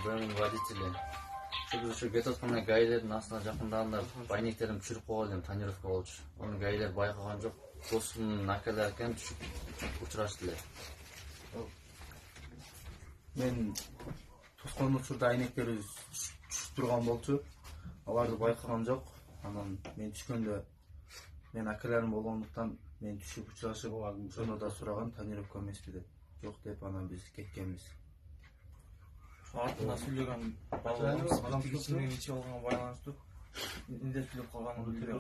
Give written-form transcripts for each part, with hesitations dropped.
БМВ водители. Şu Getotkan'a гаилердин астына жакындаганда байниктерин түшүрүп койгон элем, тонировка болчу. Onu гаилер байкаган жок. Достунун акалары экен түшүп учурашты эле. Мен тоскон учурда айнектерибиз түшүп турган болчу. Аларды байкаган жок. Анан мен түшкөндө мен акаларым болгондуктан мен түшүп учурашып, ошондо да сураган тонировка эмеспи деп. Жок деп анан биз кеткенбиз. Артында сүйлөгөн балаларыбыз кичинеге ичип алганга байланыштуу индеп сүйлөп калганын билдире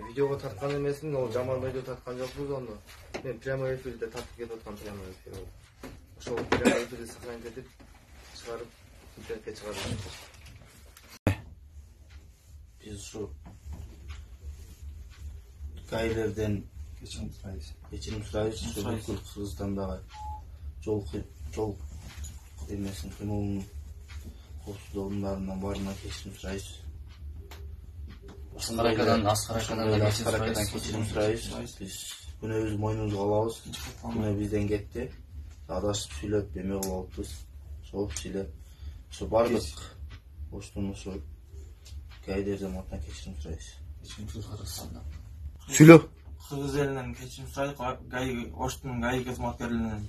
Видеого тарткан эмесмин, ол жаман видео тарткан жокпуз ону. Мен прямой эфирде тартып кетип аткан прямой эфир. Ошол прямой эфирди сохранить этип чыгарып интернетке чыгарып. Биз ушу гаилерден кечирим сурайбыз. Бүткүл Кыргызстандагы жол эмесин кыймылынын коопсуздук орундарынан баарынан кечирим сурайбыз. Аскаракадан кечирим сурайбыз. Биз күнөөбүздү мойнубузга алабыз. Күнөө бизден кетти. Адашып сүйлөп эме кылып алыппыз. Сооп сүйлөп. Ошо бардык Оштун ошо гаилерден атынан кечирим сурайбыз. Сүйлө. Кыргыз элинен кечирим сурайт, Оштун гаи кызматкерлеринен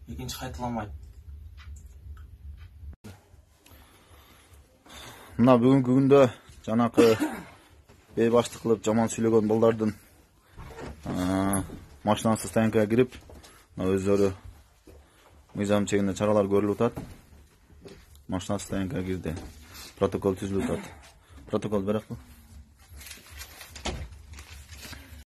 экинчи кайталамайт. Мына бүгүнкү күндө жанакы бейбаштык кылып жаман сүйлөгөн балдардын машинасы стоянкага кирип, өздөрү мыйзам чегинде чаралар көрүлүп атат. Машина стоянкага кирди. Протокол түзүлүп атат. Протокол берекпи?